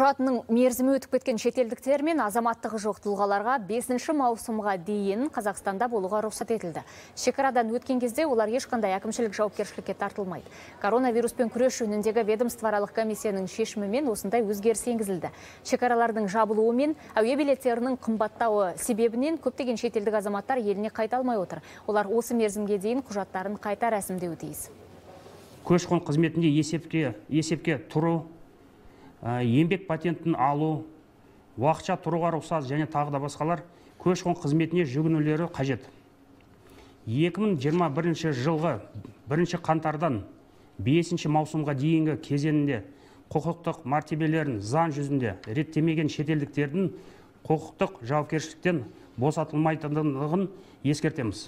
Құжатының мерзімі өтіп кеткен шетелдіктер мен азаматтығы жоқ тұлғаларға 5 маусымға дейін Қазақстанда болуға рұқсат етілді. Шекарадан өткен кезде олар ешқандай әкімшілік жауапкершілікке тартылмайды. Коронавируспен күрес жөніндегі ведомствоаралық комиссияның шешімімен осындай өзгеріс енгізілді. Шекаралардың жабылуы мен әуе билеттерінің қымбаттауы себебінен көптеген шетелдік азаматтар еліне қайта алмай отыр. Олар осы мерзімге дейін құжаттарын қайта рәсімдеуі тиіс. Көші-қон қызметінде есепке тұру, еңбек патентін алу, уақытша тұруға рұқсат және тағы да басқалар көші-қон қызметіне жүгінулері қажет. 2021 жылғы 1 қаңтардан 5 маусымға дейінгі кезеңінде құқықтық мәртебелерін заң жүзінде реттемеген шетелдіктердің құқықтық жауапкершіліктен босатылмайтындығын ескертеміз.